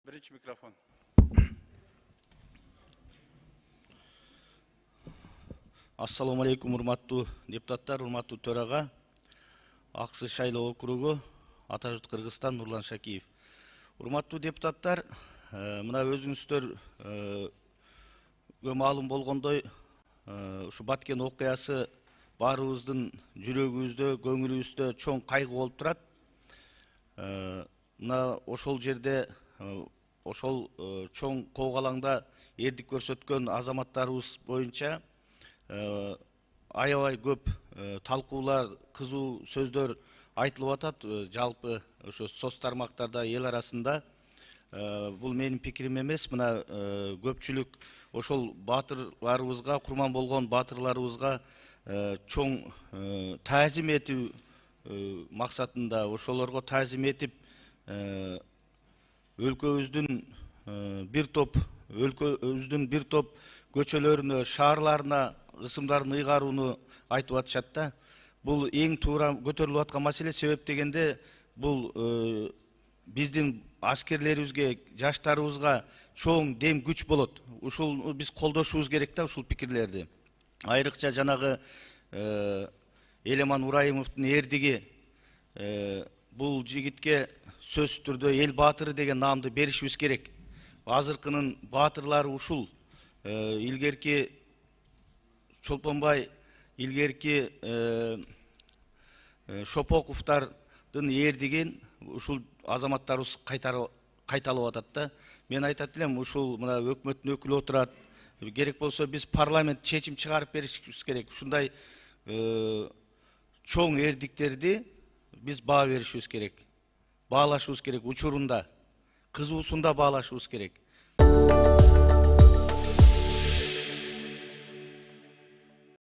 Birinchi mikrofon. Assalamu алейкум, урматтуу депутаттар, урматтуу төрага. Аксы шайлоо округу, Ата журт Кыргызстан, Нурлан Шакиев. Урматтуу депутаттар, мына өзүңүздөр маалым болгондой, ушу Баткен окуясы баарыбыздын жүрөгүбүздө, көңүлүбүздө чоң кайгы болуп турат. Мына ошол жерде, ошол чоң коогалаңда эрдик көрсөткөн азаматтарыбыз боюнча аябай көп талкуулар, кызуу сөздөр айтылып атат. Жалпы ошо соц тармактарда, эл арасында. Бул менин пикирим эмес. Мына көпчүлүк ошол баатырларыбызга, курман болгон баатырларыбызга чоң таазим этүү максатында, ошолорго таазим этип, өлкөбүздүн бир топ көчөлөрүнө, шаарларына ысымдарын ыйгарууну айтып атышат да. Бул эң туура көтөрүлүп аткан маселе. Себеп дегенде, бул биздин аскерлерибизге, жаштарыбызга чоң дем күч болот. Ушул биз колдошубуз керек да, ушул пикирлерди. Айрыкча жанагы Элеман Урайымовдун эрдиги бул жигитке сөзсүз түрдө эл баатыры деген наамды беришибиз керек. Азыркынын баатырлары ушул. Илгерки Чолпонбай, илгерки Шопоковдун эрдигин ушул азаматтарыбыз кайталап атат да. Мен айтат элем, ушул мына өкмөттүн өкүлү отурат. Керек болсо биз парламент чечим чыгарып беришибиз керек. Ушундай чоң эрдиктерди биз баа беришибиз керек. Баалашыбыз керек учурунда, кызуусунда баалашыбыз керек.